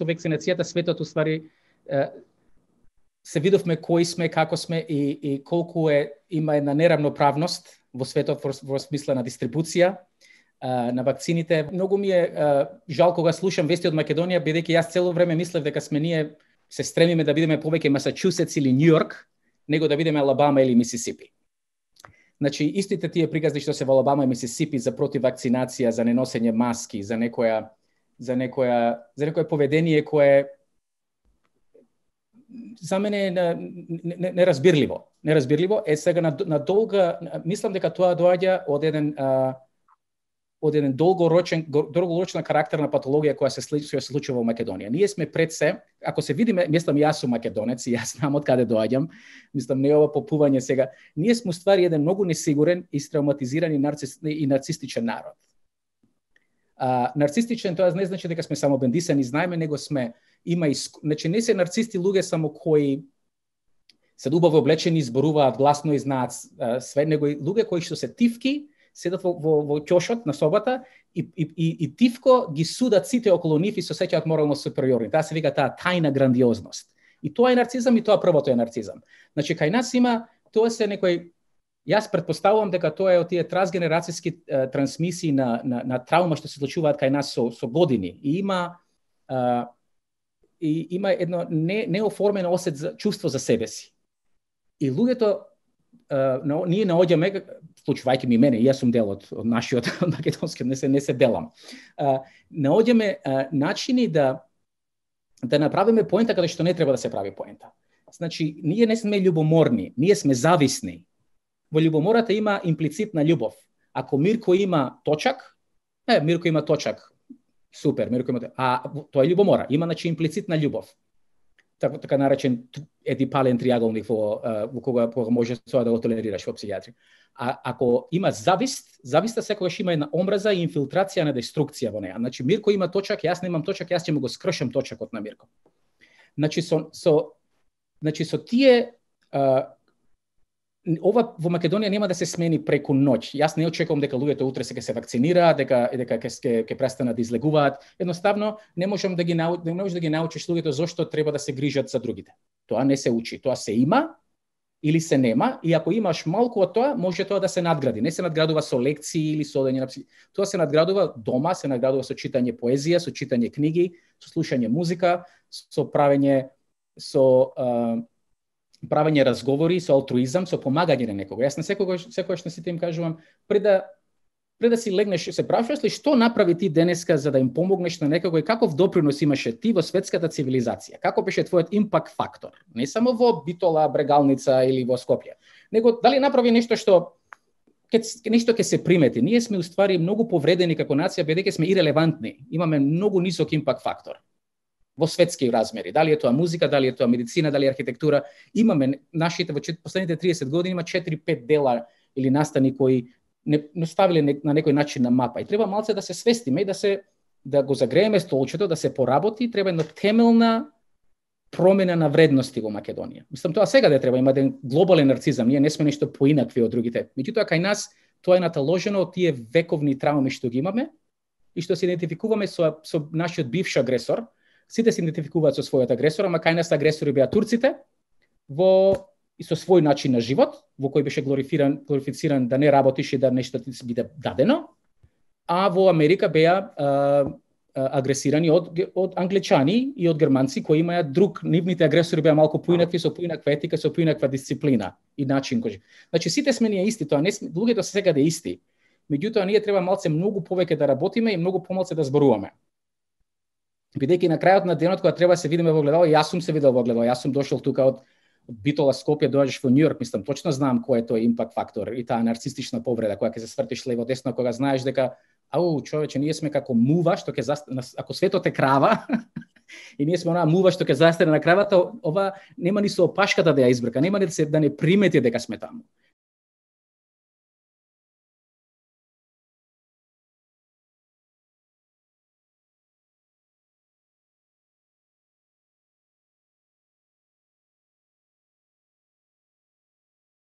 со вакцинацијата светот уствари се видовме кои сме, како сме и колку има една неравноправност во светот во смисла на дистрибуција на вакцините. Многу ми е жал кога слушам вести од Македонија, бидејќи јас цело време мислев дека сме ние се стремиме да бидеме повеќе Масачусетс или Њујорк, него да бидеме Алабама или Мисисипи. Значи, истите тие приказни што се во Алабама и Мисисипи за против вакцинација, за неносење маски, за некое поведение кое за мене е неразбирливо. Сега на долга, мислам дека тоа доаѓа од еден долгорочна карактерна патологија која се случува во Македонија. Ние сме пред се, ако се видиме, мислам јас сум македонец и јас знам од каде доаѓам, мислам не ова попување сега, ние сме уствари еден многу несигурен, истравматизиран и нарцистичен народ. Нарцистичен тоа не значи дека сме само бендисани, знаеме, него сме значи не се нарцисти луѓе само кои се убаво облечени, зборуваат гласно и знаат све, него и луѓе кои што се тивки, седат во ќошот на собата и тивко ги судат сите околу нив и се сеќаат морално супериорни. Таа се вика таа тајна грандиозност. И тоа е нарцизам и тоа првото е нарцизам. Значи кај нас има, тоа се некој, јас претпоставувам дека тоа е од тие трансгенерацијски трансмисии на траума што се случуваат кај нас со години. И има едно неоформено осет за чувство за себе си. И луѓето ние наоѓаме, случувајќи ми мене, јас сум дел од нашиот македонски, не се делам. Наоѓаме начини да направиме поента каде што не треба да се прави поента. Значи, ние не сме љубоморни, ние сме зависни. Во љубомората има имплицитна љубов. Ако Мирко има точак, Мирко има точак. Супер, Мирко има. Тоа е љубомора, има значи имплицитна љубов. Така наречен едипален триаголник во кога може тоа да го толерираш во психијатрија. Ако има зависта секогаш има една омраза и инфилтрација на деструкција во неа. Значи Мирко има точак, јас немам точак, јас ќе му го скршам точакот на Мирко. Значи со тие ова во Македонија нема да се смени преку ноќ. Јас не очекувам дека луѓето утре ќе се вакцинираат, дека ќе престанат да излегуваат. Едноставно не можеш да ги научиш луѓето зошто треба да се грижат за другите. Тоа не се учи, тоа се има или се нема, и ако имаш малку од тоа, може тоа да се надгради. Не се надградува со лекции или со одење на тоа се надградува дома, се надградува со читање поезија, со читање книги, со слушање музика, со правење разговори, со алтруизам, со помагање на некого. Јас на секогаш на сите им кажувам, пред да си легнеш, се прашуваш ли што направи ти денеска за да им помогнеш на некого и каков допринос имаше ти во светската цивилизација? Како беше твојот импакт фактор? Не само во Битола, Брегалница или во Скопје, него дали направи нешто што ќе се примети. Ние сме уствари многу повредени како нација, бидејќи сме ирелевантни. Имаме многу нисок импакт фактор во светски размери. Дали е тоа музика, дали е тоа медицина, дали е архитектура. Имаме нашите во последните 30 години има 4-5 дела или настани кои не ставиле на некој начин на мапа. И треба малце да се свестиме и да го загрееме столчето, да се поработи, треба една темелна промена на вредности во Македонија. Мислам, тоа сега да треба, има еден глобален нарцизам, ние не сме нешто поинакви од другите. Меѓутоа кај нас тоа е наталожено од тие вековни трауми што ги имаме и што се идентификуваме со нашиот бивш агресор. Сите се идентификуваат со својот агресор, ама кај нас агресори беа турците и со свој начин на живот, во кој беше глорифициран да не работиш и да нешто ти се биде дадено, а во Америка беа агресирани од англичани и од германци кои имаат друг, нивните агресори беа малку поинакви, со поинаква етика, со поинаква дисциплина и начин кој. Значи сите сме ние исти, тоа не сме, луѓето се секаде исти. Меѓутоа ние треба малце многу повеќе да работиме и многу помалце да зборуваме. Бидејќи на крајот на денот кога треба се видиме во огледало, јас сум се видел во огледало, јас сум дошол тука од Битола, Скопје, доаѓаш во Њујорк, мислам, точно знам кој е тој импакт фактор и таа нарцистична повреда која ќе се свртиш лево десно кога знаеш дека човече, ние сме како мува што ќе ако светот е крава и ние сме онаа мува што ќе застане на кравата, ова нема ни со опашката да ја избрка, нема ни да не примети дека сме таму.